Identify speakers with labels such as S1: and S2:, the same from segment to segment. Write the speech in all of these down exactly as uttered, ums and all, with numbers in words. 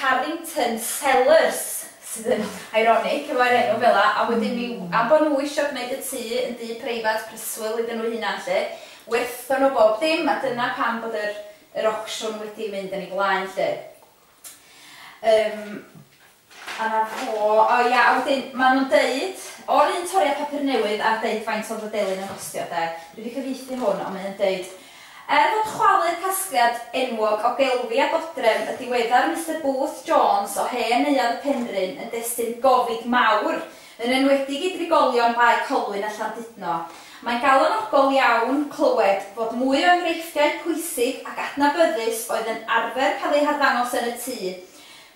S1: Carrington Cellars, sydd yn ironic efo'r enw fel 'a, a wedyn mi, am bod nhw eisiau gwneud y tŷ yn dŷ preifat preswyl iddyn nhw hunan 'lly, werthon nhw bob dim, a dyna pam bod yr, yr auction wedi mynd yn ei flaen 'lly. Um, a na fo, o ia, a wedyn maen nhw'n deud, o'r un toriad papur newydd a deud faint oedd y delyn yn costio de, dwi wedi cyfieithu hwn, ond mae'n deud, er fod chwalu'r casgliad enwog o gelfi a dodrefn y diweddar Mister Booth Jones o hen neuadd y Penrhyn yn destun gofid mawr, yn enwedig i drigolion Bae Colwyn a Llandudno, mae'n galonogol iawn clywed fod mwy o enghreifftiau pwysig ac adnabyddus oedd yn arfer cael eu harddangos yn y tŷ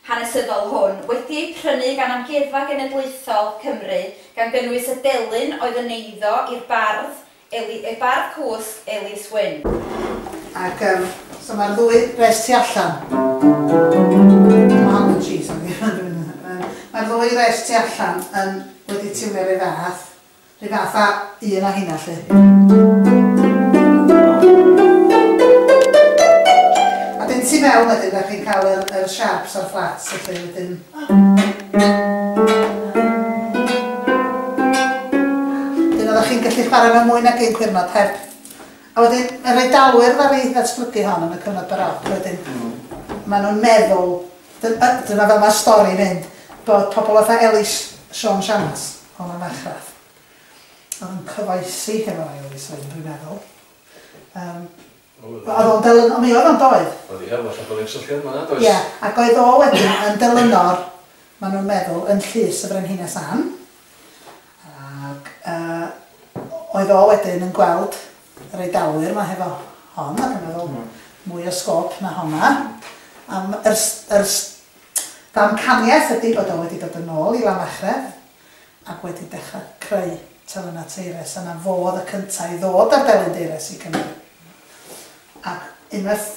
S1: hanesyddol hwn wedi eu prynu gan Amgueddfa Genedlaethol Cymru, gan gynnwys y delyn oedd yn eiddo i'r bardd, Eli, y bardd cwsg Elis Wyn.
S2: Ac um, so mae'r ddwy res tu allan. Mae hon yn G, sorry. Mae'r ddwy res tu allan yn wedi tiwnio rhyw fath. Rhyw fath a un o hynna 'lly. A dyn tu mewn wedyn, da chi'n cael yr, yr sharps a'r flats felly wedyn. Dyn oeddech chi'n gallu chwarae mewn mwy nag un cwyrnod heb. A wedyn, yr Eidalwyr ddaru ddatblygu hon yn y cyfnod Baroc wedyn. Maen nhw'n meddwl, dyna fel mae'r stori'n mynd, bod pobl fatha Elis Siôn Siamas o Lanfachreth, oedd yn cyfoesi hefo Elis Wyn, dwi'n meddwl. Um, oedd o'n delyn, mi oedd o'n doedd.
S3: Oedd ia, falle bod e'n cysylltiad yma, does?
S2: Ie, ac oedd o wedyn yn delynor, maen nhw'n meddwl, yn llys y Frenhines Anne. Ac uh, oedd o wedyn yn gweld yr Eidalwyr yma hefo hon, ac yn meddwl mwy o sgôp na honna. Am yr, yr damcaniaeth ydy bod o wedi dod yn ôl i Lanfachreth ac wedi dechrau creu telynau teires, a na fo oedd y cyntaf i ddod â'r delyn deires i Gymru. Ac unwaith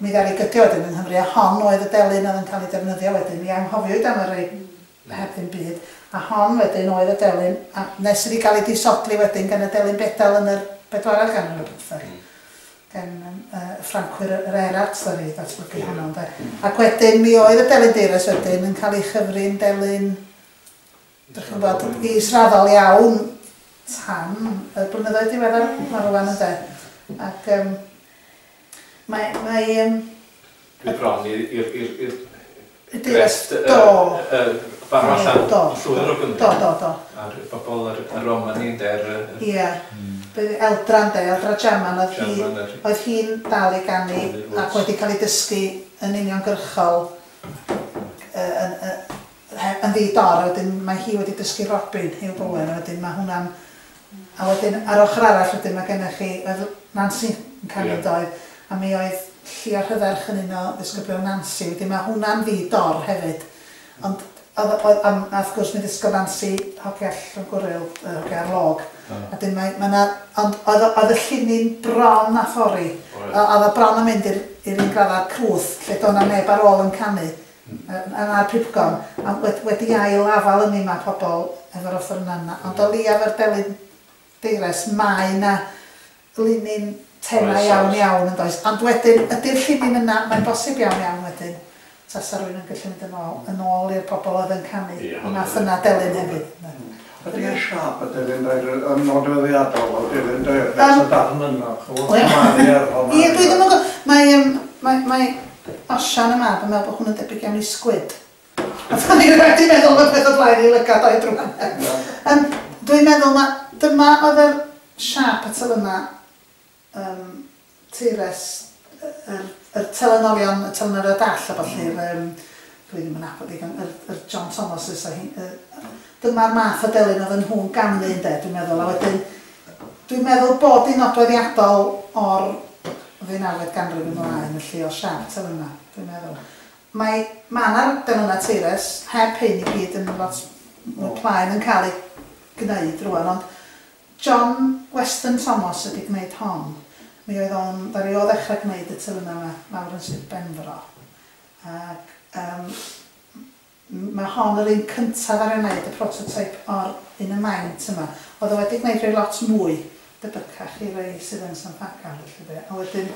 S2: mi ddaru gydio wedyn yng Nghymru, a hon oedd y delyn oedd yn cael ei defnyddio wedyn, mi anghofiwyd am y rei heb ddim byd, a hon wedyn oedd y delyn, a nes iddi gael ei disodli wedyn gan y delyn bedal yn yr bedwaredd ganrif ar bymtheg, gan uh, Ffrancwyr yr Erart ddaru ddatblygu honno. Ynde. Ac wedyn mi oedd y delyn deires wedyn yn cael ei chyfri'n delyn, dych chi'n gwybod, israddol iawn tan y blynyddoedd diweddar ma rwan ynde. Ac um, mae... mae um,
S3: Dwi bron i'r i'r
S2: grefft do.
S3: Farw allan llwyr o Gymru.
S2: Do, do, do.
S3: A'r bobl yr Romani ynde.
S2: Ie. Eldra ynde, Eldra Jaman, oedd hi, oedd hi'n dal i ganu ac wedi cael ei dysgu yn uniongyrchol yn, yn ddi-dor, a wedyn mae hi wedi dysgu Robin Huw Bowen, a wedyn mae hwnna'n... A wedyn ar ochr arall wedyn mae gennych chi, oedd Nansi yn canu doedd, a mi oedd Llio Rhydderch yn un o ddisgyblion Nansi, wedyn mae hwnna'n ddi-dor hefyd. Ond oedd, oedd, a wrth gwrs mi ddysgodd Nansi hogia Llangwril, hogia ar log. A dyn mae, mae na, ond oedd, oedd y llinyn bron a thorri. Oedd o bron yn mynd i'r un graddau crwth, lle doedd na neb ar ôl yn canu, a'r pibgom. A wedi ail afal yn ma pobl efo'r offerynnau yna. Ond o leiaf yr delyn deires, mae na linyn tenau iawn iawn yn does. Ond wedyn, ydy'r llinyn yna, mae'n bosib iawn iawn wedyn. Tasa rhywun yn gallu mynd yn ôl, yn ôl i'r pobl oedd yn canu.
S4: Yeah,
S2: nath yna delyn hefyd.
S4: Ydy y siâp y delyn dair yn nodweddiadol o delyn dair? Nes y darn yna, chwbl.
S2: Ie, dwi ddim yn gwybod. Mae, mae, mae Osian y mab yn meddwl bod hwn yn debyg iawn i sgwid. A o'n i wedi meddwl bod peth o blaen i lygad o'i drwm. Um, dwi'n meddwl na dyma oedd yr siâp y telynau um, teires, yr, yr telynolion, y telynorion dall a ballu, mm. um, dwi ddim yn nabod digon, yr, yr John Thomases a hi, uh, dyma'r math o delyn oedd yn nhw'n ganu ynde, dwi'n meddwl, a wedyn dwi'n meddwl bod hi'n nodweddiadol o'r ddeunawfed ganrif ymlaen, felly o siâp telynau, dwi'n meddwl. Mae ma' 'na delynau teires, heb hyn i gyd yn lot mwy plaen yn cael ei gwneud rwan, ond John Weston Thomas ydi gwneud hon. Mi oedd o'n, ddaru o ddechrau gwneud y telynau yma lawr yn Sir Benfro. Ac um, mae hon yr un cyntaf ar ei wneud, y prototype o'r un y maint yma. Oedd o wedi gwneud rhoi lot mwy debycach i rei sydd yn San Ffagan, felly de. A wedyn,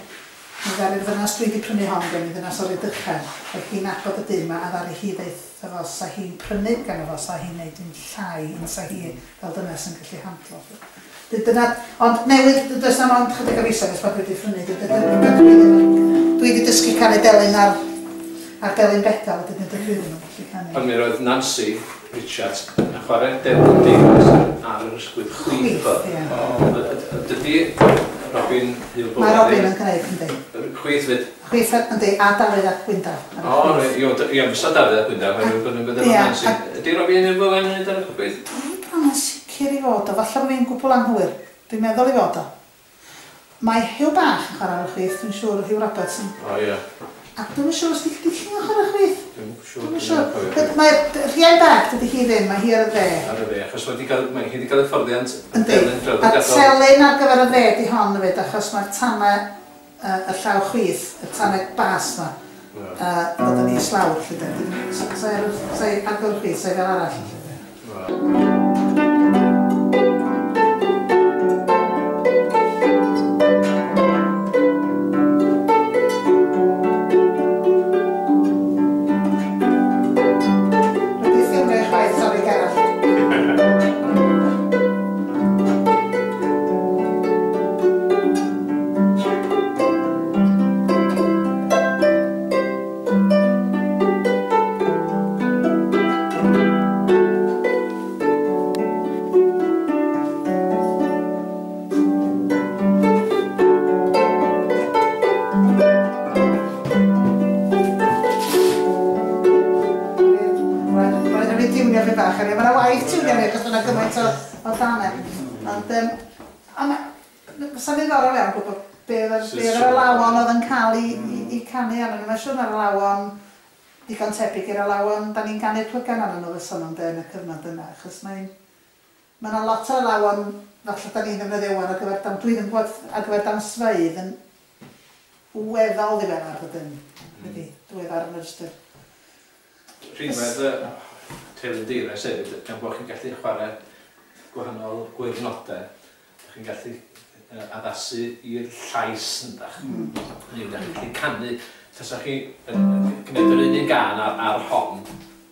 S2: Mi ddaru'r ddynas dwi wedi prynu hon gen i, ddynas o'r Rhydychen, oedd hi'n nabod y dyn 'ma a ddaru hi ddeutha fo sa hi'n prynu gan fo, sa hi'n neud yn llai yn sa hi fel dynas yn gallu handlo. Dyna, ond newydd, does 'na'm ond chydig o fisoedd ers bod dwi wedi prynu, dwi wedi dysgu canu delyn ar, ar delyn bedal, a dydyn dydw i ddim yn gallu canu.
S3: Ond mi roedd Nancy Richards yn chwarae delyn Davies ar yr ysgwydd chwith.
S2: Ie.
S3: Dydy Robin Huw
S2: Mae Robin yn gwneud, yndi.
S3: Chwith fyd?
S2: Chwith, yndi, a Dafydd ap Gwyndaf.
S3: O, ie, fysa Dafydd ap Gwyndaf, mae'n rhywbeth yn bydd efo Nancy. Ydy Robin Huw Bowen yn gwneud ar y chwith?
S2: Dwi'n bron yn sicr i fod o, falle bod fi'n gwbl anghywir. Dwi'n meddwl i fod o. Mae Huw Bach yn chwarae ar y chwith, dwi'n siŵr, Huw Roberts yn...
S3: O, ie.
S2: A dwi'm yn siŵr os di Llidi'n chwarae chwith.
S3: Dwi'm yn siŵr.
S2: Dwi'm yn siŵr. Mae Rhian Bach, dydy hi ddim, mae hi ar y dde.
S3: Ar y dde, achos mae hi wedi cael hyfforddiant
S2: yn delyn draddodiadol. A telyn ar gyfer y dde di hon hefyd, achos mae'r tanau y llaw chwith, y tanau bas yma, ddod yn islawr, lly de. Sa'i agor chwith, sa'i fel arall, lly de. Mae'n siŵr na'r alawon digon tebyg i'r alawon, da ni'n canu'r plygan arnyn nhw fysa nhw'n de yn y cyfnod yna, achos mae'n... Mae yna lot o alawon, falle da ni'n ddefnyddio wan ar gyfer dam, dwi ddim yn gwybod ar gyfer damsfeydd yn weddol ddiweddar ydyn, wedi diweddar yn yr ystyr.
S3: Rhinwedd y telyn deires hefyd, gan bod chi'n gallu chwarae gwahanol gwirnodau, chi'n gallu addasu i'r llais yndach. Neu ydych chi'n gallu canu. Tasa chi gwneud yr un un gân ar, ar hon,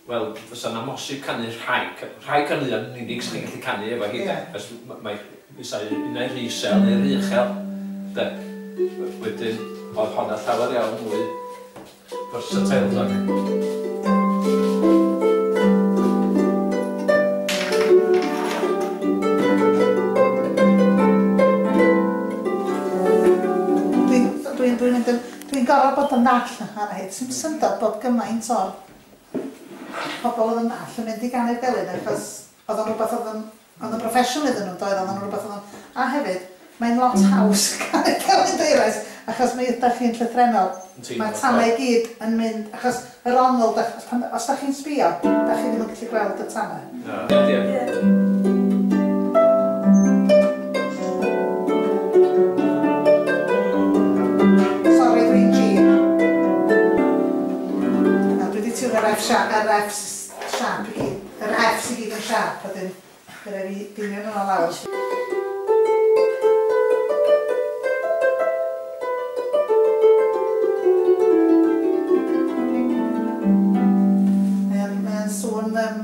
S3: wel, fysa na mosib canu rhai, rhai caneuon yn unig sy'n gallu canu efo hi, yeah. Fes, mae fysa unai rhy isel neu rhy uchel, de. Wedyn, oedd honna llawer iawn mwy versatile, de.
S2: Dwi'n dwi'n mynd yn... Dwi'n gorfod bod yn ddall yn chwarae hi. Sy'n syndod bod gymaint o'r pobl oedd yn ddall yn mynd i ganu'r delyn, achos oedd o'n rhywbeth oedd yn, oedd yn broffesiwn iddyn nhw, doedd, oedd o'n rhywbeth oedd yn... A hefyd, mae'n lot haws canu'r delyn deires, achos mi ydych chi'n llythrennol. Mae'r tanau i gyd yn mynd, achos yr ongl, os da chi'n sbio, da chi ddim yn gallu gweld y tanau.
S3: Ie, ie.
S2: Yr F sharp, yr F sharp i gyd, yr F sy'n gyd yn sharp, a dyn, bydd fi dinio nhw'n lawr. Mae'n sŵn um,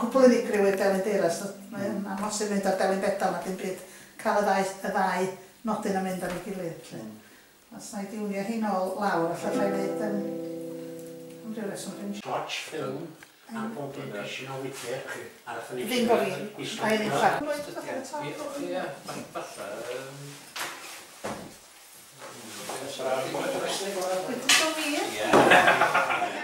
S2: cwbl unigryw i'r delyn deires, mae'n amhosib mynd ar delyn bedal na dim byd, cael y ddau, y ddau nodyn a mynd ar ei gilydd. Os na i diwnio hi nôl lawr, allai wneud um,
S5: Watch film a bob un pishin o wydyr a nathon ni
S2: Ddim bo fi, a un i'n chwarae.
S3: Ie, falle...
S2: Wydyr bo fi?
S3: Ie.